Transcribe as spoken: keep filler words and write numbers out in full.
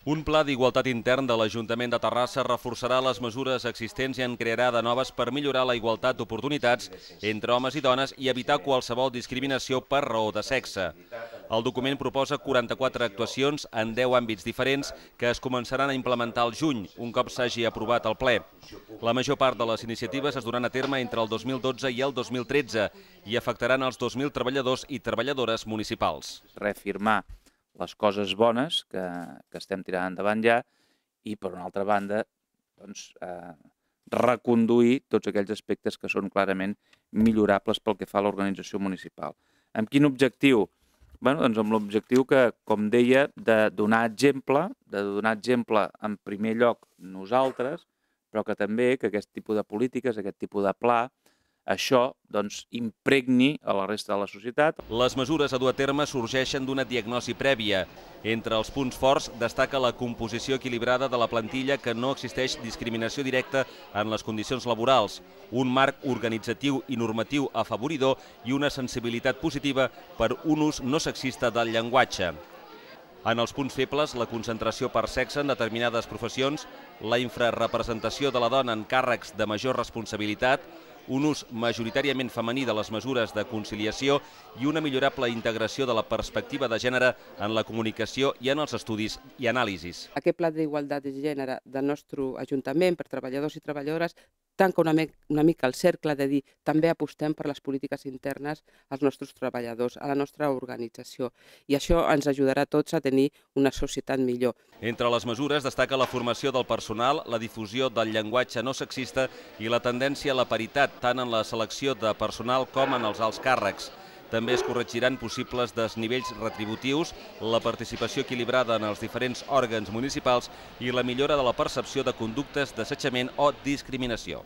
Un pla d'igualtat intern de l'Ajuntament de Terrassa reforçarà les mesures existents i en crearà de noves per millorar la igualtat d'oportunitats entre homes i dones i evitar qualsevol discriminació per raó de sexe. El document proposa quaranta-quatre actuacions en deu àmbits diferents que es començaran a implementar al juny, un cop s'hagi aprovat el ple. La major part de les iniciatives es duran a terme entre el dos mil dotze i el dos mil tretze i afectaran els dos mil treballadors i treballadores municipals. Reafirmar les coses bones que, que estem tirant endavant ja i, per una altra banda, doncs, eh, reconduir tots aquells aspectes que són clarament millorables pel que fa a l'organització municipal. Amb quin objectiu? Bé, doncs amb l'objectiu que, com deia, de donar exemple, de donar exemple en primer lloc nosaltres, però que també que aquest tipus de polítiques, aquest tipus de pla, això doncs, impregni a la resta de la societat. Les mesures a dur a terme sorgeixen d'una diagnosi prèvia. Entre els punts forts destaca la composició equilibrada de la plantilla, que no existeix discriminació directa en les condicions laborals, un marc organitzatiu i normatiu afavoridor i una sensibilitat positiva per un ús no sexista del llenguatge. En els punts febles, la concentració per sexe en determinades professions, la infrarrepresentació de la dona en càrrecs de major responsabilitat, un ús majoritàriament femení de les mesures de conciliació i una millorable integració de la perspectiva de gènere en la comunicació i en els estudis i anàlisis. Aquest pla d'igualtat de gènere del nostre Ajuntament per treballadors i treballadores tanca una, una mica el cercle de dir també apostem per les polítiques internes als nostres treballadors, a la nostra organització. I això ens ajudarà a tots a tenir una societat millor. Entre les mesures destaca la formació del personal, la difusió del llenguatge no sexista i la tendència a la paritat tant en la selecció de personal com en els alts càrrecs. També es corregiran possibles desnivells retributius, la participació equilibrada en els diferents òrgans municipals i la millora de la percepció de conductes d'assetjament o discriminació.